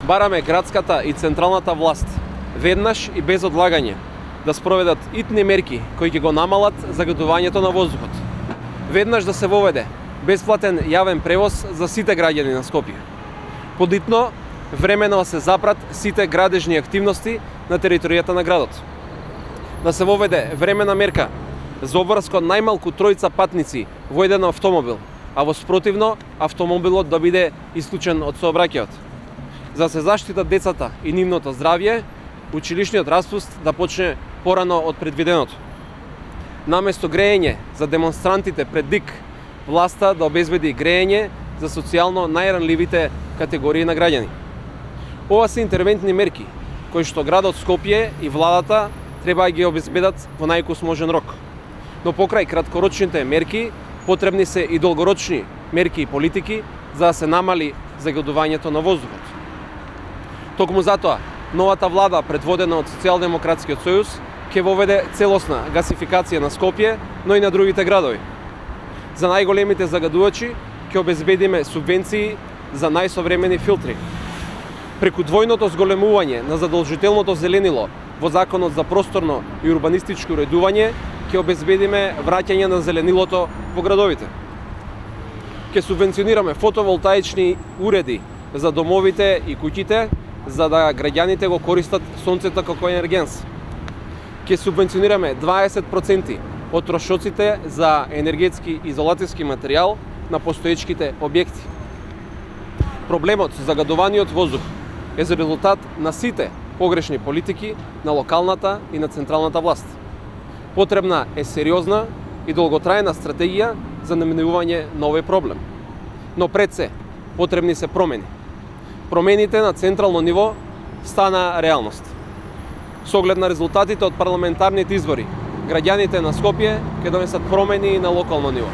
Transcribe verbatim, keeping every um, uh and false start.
Бараме градската и централната власт веднаш и без одлагање да спроведат итни мерки кои ќе го намалат загадувањето на воздухот. Веднаш да се воведе бесплатен јавен превоз за сите граѓани на Скопје. Подитно, времено се запрат сите градежни активности на територијата на градот. Да се воведе времена мерка за обврска најмалку тројца патници во еден автомобил, а во спротивно автомобилот да биде исклучен од сообраќајот. За да се заштитат децата и нивното здравје, училишниот распуст да почне порано од предвиденото. Наместо грејење за демонстрантите пред ДИК, власта да обезбеди грејење за социјално најранливите категории на граѓани. Ова се интервентни мерки кои што градот Скопје и владата треба да ги обезбедат во најкусможен рок. Но покрај краткорочните мерки, потребни се и долгорочни мерки и политики за да се намали загадувањето на воздухот. Токму затоа, новата влада, предводена од Социјалдемократскиот сојуз, ќе воведе целосна гасификација на Скопје, но и на другите градови. За најголемите загадувачи ќе обезбедиме субвенции за најсовремени филтри. Преку двојното зголемување на задолжителното зеленило во Законот за просторно и урбанистичко уредување, ќе обезбедиме враќање на зеленилото во градовите. Ќе субвенционираме фотоволтаични уреди за домовите и куќите, за да граѓаните го користат сонцето како енергенс. Ќе субвенционираме дваесет проценти од трошоците за енергетски изолацијски материјал на постоечките објекти. Проблемот со загадуваниот воздух е за резултат на сите погрешни политики на локалната и на централната власт. Потребна е сериозна и долготрајна стратегија за наминување на овој проблем. Но пред се, потребни се промени. Промените на централно ниво стана реалност. Со оглед на резултатите од парламентарните избори, граѓаните на Скопје ќе донесат промени и на локално ниво.